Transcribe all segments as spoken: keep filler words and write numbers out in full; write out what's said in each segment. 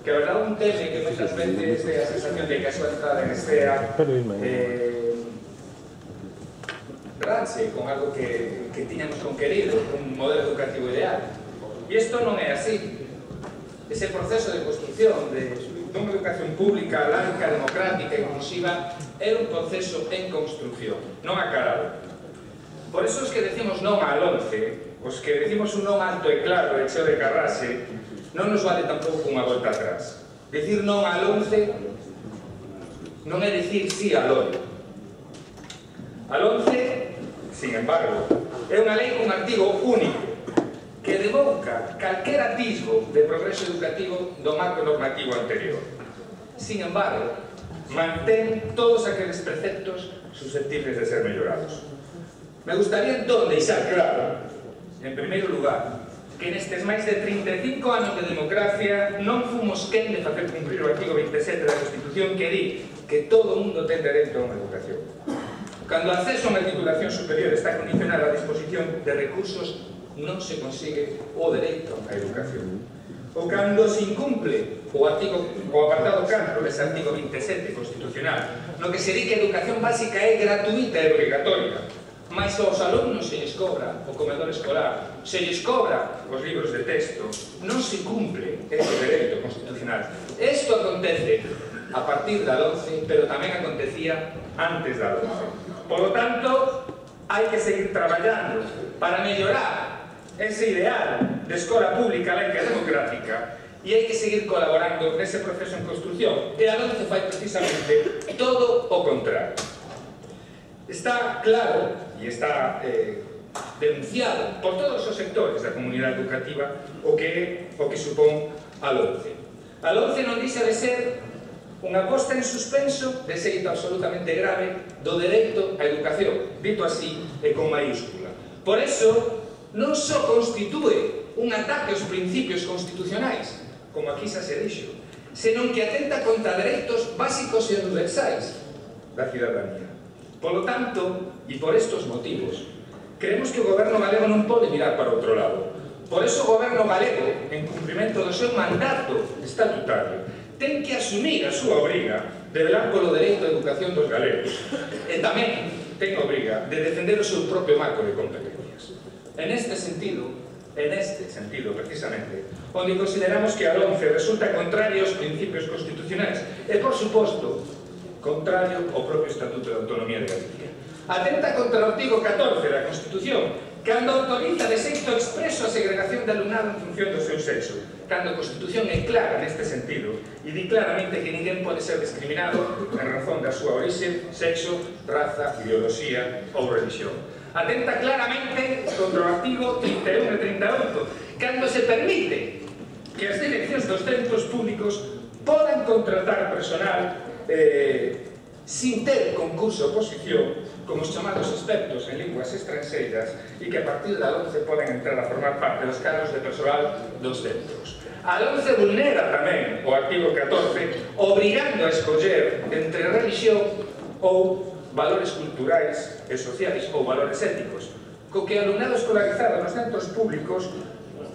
que a verdade un teme que moitas veces é a sensación de que a súa entrada en escena eh, ranche con algo que, que tiñamos conquerido, un modelo educativo ideal. E isto non é así. Ese proceso de construcción de unha educación pública, laica, democrática e inclusiva é un proceso en construcción, non acabado. Por eso os que decimos non á LOMCE, os que decimos un non alto e claro e cheo de carrase, non nos vale tampouco unha volta atrás. Decir non á LOMCE non é decir sí á LOMCE. A LOMCE, sin embargo, é unha lei con artigo único que devoca calquer atisbo de progreso educativo do marco normativo anterior. Sin embargo, mantén todos aqueles preceptos susceptibles de ser mellorados. Me gustaría entón deixar claro, en primeiro lugar, que nestes máis de trinta e cinco anos de democracia non fomos quen de facer cumprir o artigo veintisiete da Constitución que di que todo o mundo ten dereito a unha educación. Cando o acceso a unha titulación superior está condicionado á disposición de recursos, non se consigue o dereito á educación. O cando se incumple o artigo, o apartado catro dese artigo veintisiete constitucional, no que se di que a educación básica é gratuita e obrigatoria, mas aos alumnos se lles cobra o comedor escolar, se lles cobra os libros de texto, non se cumple ese dereito constitucional. Isto acontece a partir da LOMCE, pero tamén acontecía antes da LOMCE. Por lo tanto, hai que seguir traballando para mellorar ese ideal de escola pública, laica e democrática, e hai que seguir colaborando nese proceso en construcción. E a LOMCE fai precisamente todo o contrario. Está claro e está eh, denunciado por todos os sectores da comunidade educativa o que, o que supón a LOMCE. A LOMCE non deixa de ser unha posta en suspenso de xeito absolutamente grave do dereito á educación, dito así e con maiúscula. Por eso, non só constitúe un ataque aos principios constitucionais, como aquí xa se dixo, senón que atenta contra dereitos básicos e universais da cidadanía. Por lo tanto, e por estos motivos, creemos que o goberno galego non pode mirar para outro lado. Por eso o goberno galego, en cumprimento do seu mandato estatutario, ten que asumir a súa obriga de velar polo dereito á educación dos galegos e tamén ten a obriga de defender o seu propio marco de competencias. En este sentido, en este sentido, precisamente, onde consideramos que a LOMCE resulta contrario aos principios constitucionais e, por suposto, contrario ao propio Estatuto de Autonomía de Galicia. Atenta contra o artigo catorce da Constitución, cando autoriza de xeito expreso a segregación de alumnado en función do seu sexo, cando a Constitución é clara neste sentido e di claramente que ninguén pode ser discriminado en razón da súa orixe, sexo, raza, ideoloxía ou religión. Atenta claramente contra o artigo trinta e un e trinta e oito, cando se permite que as direccións dos centros públicos podan contratar personal Eh, sin ter concurso ou oposición como os chamados expertos en linguas estranxeiras e que a partir da LOMCE poden entrar a formar parte dos cargos de persoal dos centros. A LOMCE vulnera tamén o artigo catorce obrigando a escoller entre religión ou valores culturais e sociais ou valores éticos, co que o alumnado escolarizado nos centros públicos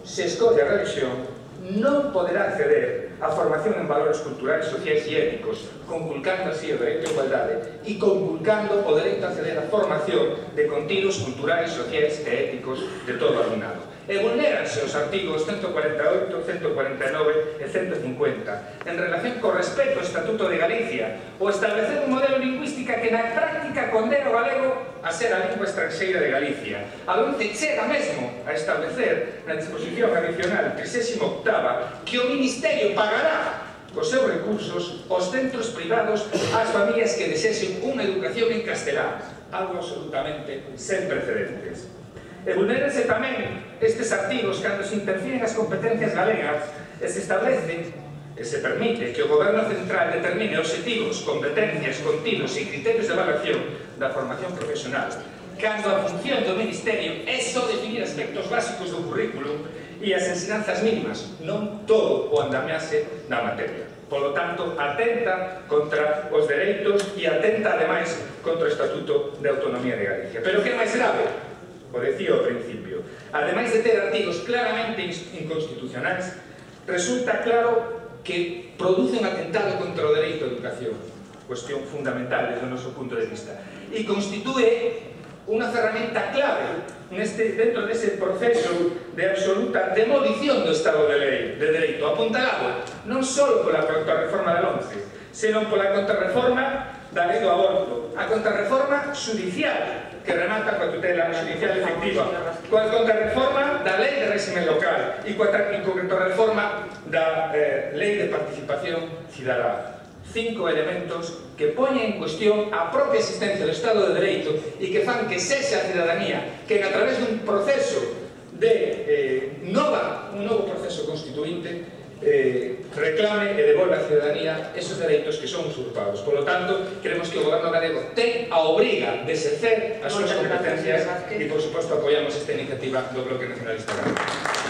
se escolle a religión non poderá acceder a formación en valores culturais, sociais e éticos, conculcando así o dereito a igualdade e conculcando o dereito a acceder a formación de contidos culturais, sociais e éticos de todo o alumnado. E vulnéranse os artigos ciento cuarenta e oito, ciento cuarenta e nove e ciento cincuenta en relación co respeto ao Estatuto de Galicia ou establecer un modelo lingüística que na práctica condena o galego a ser a lingua estranxeira de Galicia, a onde chega mesmo a establecer na disposición adicional trigésima octava que o Ministerio pagará cos seus recursos aos centros privados ás familias que desexen unha educación en castelán, algo absolutamente sen precedentes. E vulnérense tamén estes artigos cando se interfieren as competencias galegas e se establece e se permite que o Goberno Central determine obxectivos, competencias, contidos e criterios de evaluación da formación profesional, cando a función do Ministerio é só definir aspectos básicos do currículo e as ensinanzas mínimas, non todo o andamiaxe da materia. Por lo tanto, atenta contra os dereitos e atenta, ademais, contra o Estatuto de Autonomía de Galicia. Pero que é máis grave? O decía ao principio, ademais de ter artigos claramente inconstitucionais, resulta claro que produce un atentado contra o dereito á educación, cuestión fundamental desde o noso punto de vista, e constitúe unha ferramenta clave neste, dentro dese proceso de absoluta demolición do Estado de lei, de dereito, apuntalado non só pola contrarreforma da once, senón pola contrarreforma da lei do aborto, a contrarreforma judicial, que remata coa tutela judicial efectiva, coa contrarreforma da lei de réxime local e coa contrarreforma da eh, lei de participación cidadá. Cinco elementos que poñen en cuestión a propia existencia do Estado de Dereito e que fan que sexa a cidadanía que a través dun proceso de eh, nova, un novo proceso constituinte eh, reclame e devolva a cidadanía esos dereitos que son usurpados. Por lo tanto, creemos que o goberno galego ten a obriga de exercer as súas competencias e, por suposto, apoiamos esta iniciativa do Bloque Nacionalista Galego.